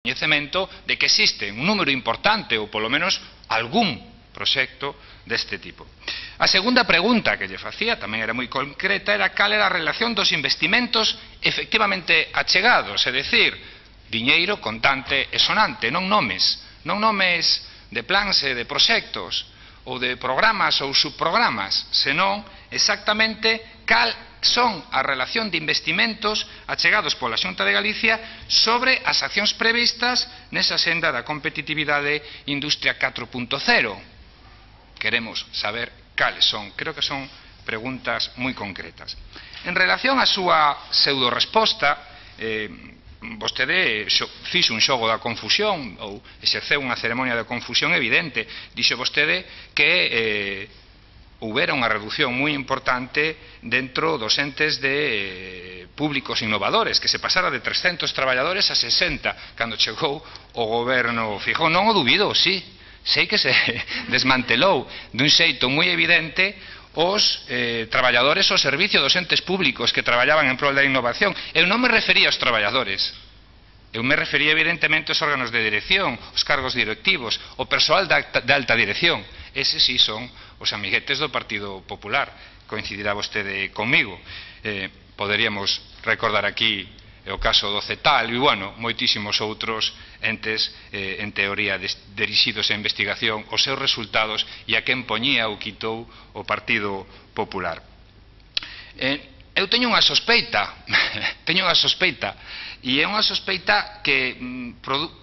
coñecemento de que existe un número importante ou polo menos algún proxecto deste tipo. A segunda pregunta que lle facía tamén era moi concreta, era cal era a relación dos investimentos efectivamente achegados, é dicir, diñeiro contante e sonante, non nomes de plans e de proxectos ou de programas ou subprogramas, senón exactamente cal son a relación de investimentos achegados pola Xunta de Galicia sobre as accións previstas nesa senda da competitividade Industria 4.0. Queremos saber cales son. Creo que son preguntas moi concretas. En relación á súa pseudo-resposta, vostede fixo un xogo da confusión ou exerceu unha ceremonia de confusión evidente. Dixo vostede que houbera unha reducción moi importante dentro dos entes de públicos innovadores, que se pasara de 300 traballadores a 60 cando chegou o goberno Feijóo. Non o dubido, sí, sei que se desmantelou dun xeito moi evidente os traballadores ao servicio dos entes públicos que traballaban en prol da innovación. Eu non me refería aos traballadores, eu me refería evidentemente aos órganos de dirección, os cargos directivos, o persoal de alta dirección. Eses sí son os amiguetes do Partido Popular. Coincidirá vostede comigo. Poderíamos recordar aquí o caso do CETAL e, bueno, moitísimos outros entes, en teoría, dirixidos a investigación, os seus resultados e a quen poñía ou quitou o Partido Popular. Eu teño unha sospeita, e é unha sospeita que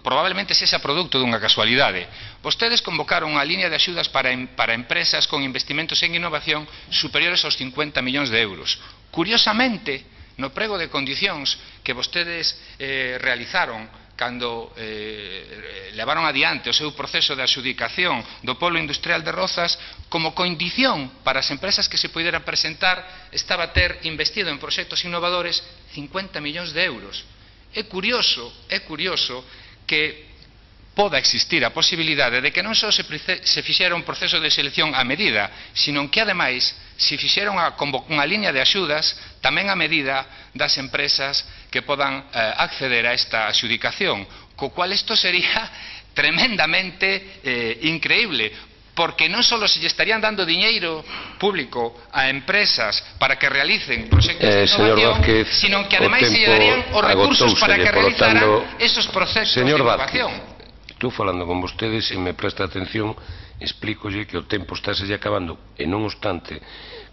probablemente sexa produto dunha casualidade. Vostedes convocaron unha línea de axudas para empresas con investimentos en innovación superiores aos 50 millóns de euros. Curiosamente, no prego de condicións que vostedes realizaron cando levaron adiante o seu proceso de adxudicación do polo industrial de Rozas, como condición para as empresas que se poderan presentar estaba ter investido en proxectos innovadores 50 millóns de euros. É curioso que poda existir a posibilidade de que non só se fixera un proceso de selección a medida, sino que, ademais, se fixera unha liña de axudas tamén a medida das empresas que podan acceder a esta adxudicación, co cual isto sería tremendamente increíble, porque non só se lle estarían dando diñeiro público a empresas para que realicen proxectos de innovación, sino que ademais se lle darían os recursos para que realizaran esos proxectos de innovación. Estou falando con vostedes, se me presta atención, explícolle que o tempo está se acabando, e non obstante,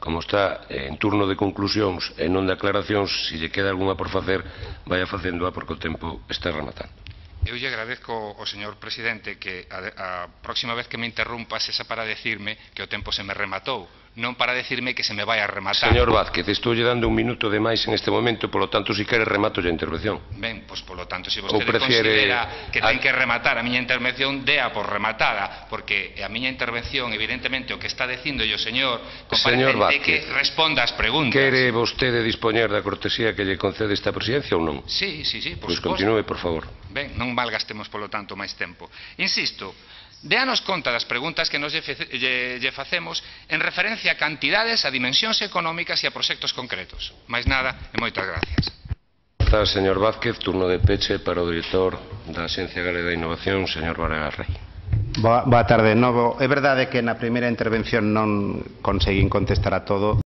como está en turno de conclusións e non de aclaracións, se lle queda algunha por facer, vaya facéndoa porque o tempo está rematando. Eu lle agradezco ao señor presidente que a próxima vez que me interrumpa sexa para decirme que o tempo se me rematou, non para decirme que se me vai a rematar. Señor Vázquez, estou lle dando un minuto de máis en este momento, polo tanto, si quere remato a intervención. Ben, pois polo tanto, se vostede considera que ten que rematar a miña intervención, dea por rematada, porque a miña intervención, evidentemente, o que está dicindo o señor comparecente que responda ás preguntas. Quere vostede dispoñer da cortesía que lle concede esta presidencia ou non? Sí, por suposto. Pois continúe, por favor. Ben, non malgastemos polo tanto máis tempo. Insisto, déanos conta das preguntas que nos lle facemos en referencia a cantidades, a dimensións económicas e a proxectos concretos. Mais nada e moitas gracias. Señor Vázquez, turno de peche para o director da Axencia Galega de Innovación, señor Varegas Rei. Boa tarde de novo. É verdade que na primeira intervención non conseguín contestar a todo.